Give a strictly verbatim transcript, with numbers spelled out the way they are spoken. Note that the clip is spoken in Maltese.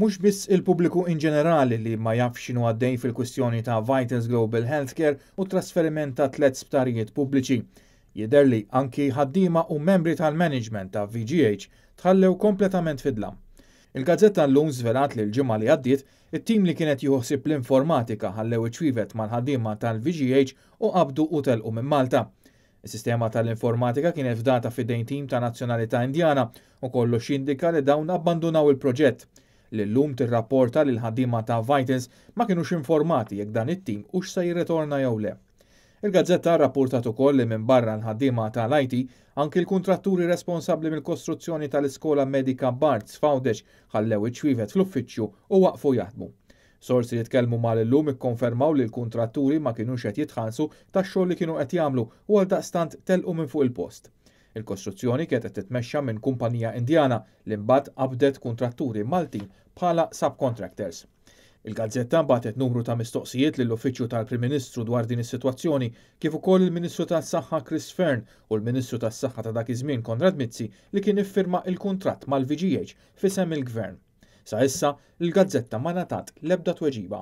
Mhux biss il-pubbliku in ġenerali li ma jafx x'inhu għaddej fil-kwistjoni ta' Vitals Global Healthcare u trasferiment ta' tliet sptarijiet pubbliċi. Jidher li anki ħaddiema u membri tal-management ta' V G H tħallew kompletament fid-dlam. Il-gazzetta Llum żvelat li l-ġimgħa li għaddiet, it-tim li kienet jieħu ħsieb l-informatika ħallew iċ-ċwievet mal-ħaddiema tal-V G H u qabdu u telqu minn Malta. Is-sistema tal-informatika kienet fdata f'idejn tim ta' nazzjonalità Indjana u kollox jindika li dawn abbandunaw il-proġett. L-Illum tirrapporta li l-ħaddiema ta' Vitals ma kienux informati jekk dan it-tim hux se jirritorna jew le. Il-gazzetta rapportat ukoll li minn barra l-ħaddiema tal-I T, anki l-kontratturi responsabbli mill-kostruzzjoni tal-Iskola Medika Barts f'Għawdex ħallew iċ-ċwievet fl-uffiċċju u waqfu jaħdmu. Sorsi li tkellmu mal-Illum ikkonfermaw li l-kontratturi ma kienux qed jitħallsu tax-xogħol li kienu qed jagħmlu u għaldaqstant telqu minn fuq il-post. Il-kostruzzjoni kienet qed titmexxa minn kumpanija Indjana li mbagħad qabdet kontratturi Maltin bħala subcontractors. Il-gazzetta bagħtet numru ta' mistoqsijiet lill-Uffiċċju tal-Prim Ministru dwar din is-sitwazzjoni, kif ukoll il-Ministru tas-Saħħa Chris Fearne u l-Ministru tas-Saħħa ta' dak iż-żmien Konrad Mizzi, li kien iffirma il-kuntratt mal-V G H f'isem il-Gvern. Sa issa, il-gazzetta ma ngħatat l-ebda tweġiba.